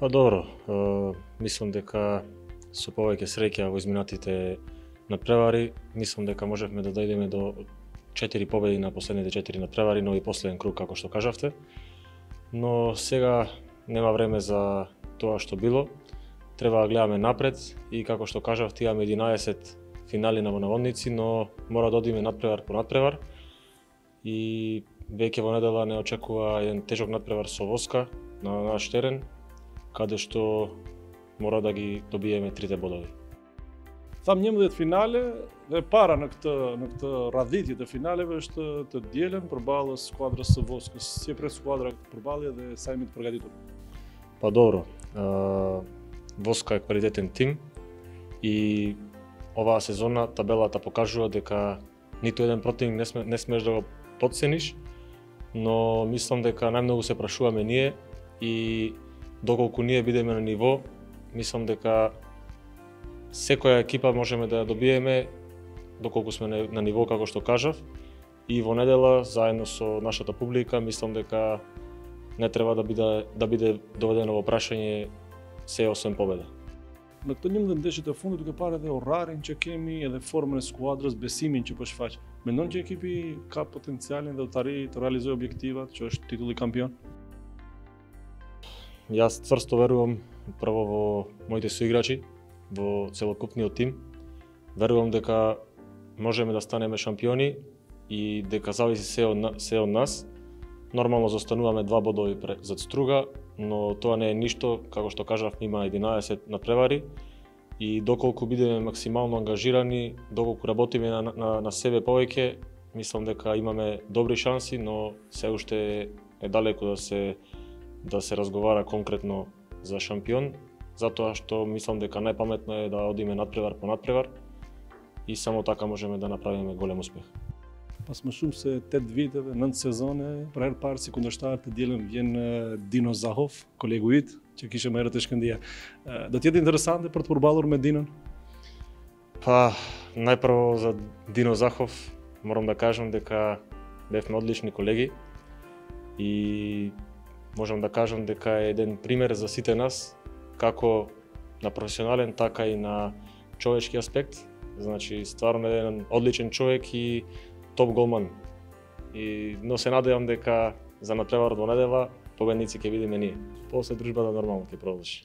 Па добро, мислам дека со повеќе среќа во изминатите надпревари, мислам дека можевме да дојдеме до 4 победи на последните 4 надпревари, но и последен круг како што кажавте. Но сега нема време за тоа што било. Треба да гледаме напред и како што кажавте, имаме 11 финали на наводници, но мора да одиме надпревар по надпревар. И веќе во недела не очекува еден тежок надпревар со Воска на наш терен, каде што мора да ги добиеме 3 бодови. Tham 11 finale dhe para në këtë radhitje të finaleve është të dielën përballë skuadrës së Voskës. Si e pret skuadra përballje dhe sa jemi të përgatitur? Па добро, Воска е квалитетен тим и оваа сезона табелата покажува дека ниту еден противник не смеш да го потцениш, но мислам дека најмногу се прашуваме ние и доколку ние бидеме на ниво, мислам дека секоја екипа можеме да ја добиеме доколку сме на ниво како што кажав, и во недела заедно со нашата публика мислам дека не треба да биде доведено во прашање се освен победа. Në këto 11 ndeshje të fundit duke parë edhe orarin që kemi, edhe formën e skuadrës, besimin që po shfaq. Mendon që ekipi ka potencialin dhe të realizojë objektivat, që është titulli kampion? Јас цврсто верувам прво во моите соиграчи, во целокупниот тим. Верувам дека можеме да станеме шампиони и дека зависи се од нас. Нормално застануваме 2 бодови зад Струга, но тоа не е ништо, како што кажав, има 11 надпревари и доколку бидеме максимално ангажирани, доколку работиме на себе повеќе, мислам дека имаме добри шанси, но се уште е далеку да се разговара конкретно за шампион, затоа што мислам дека најпаметно е да одиме надпревар по надпревар и само така можеме да направиме голем успех. Pas më shumë se 8 viteve, 9 sezone, për herë parë si kundërshtar të dielën vjen Dino Zahov, kolegu yt, që kishte më herët te Shkëndija. Do të jetë interesante për të përballur me Dinën? Па, најпрво за Дино Захов морам да кажам дека бевме одлични колеги и можам да кажам дека е еден пример за сите нас, како на професионален, така и на човечки аспект. Значи, стварно е еден одличен човек и топ голман. Но се надевам дека за надпреварот во недела победници ќе видиме ние. После дружбата нормално ќе продолжи.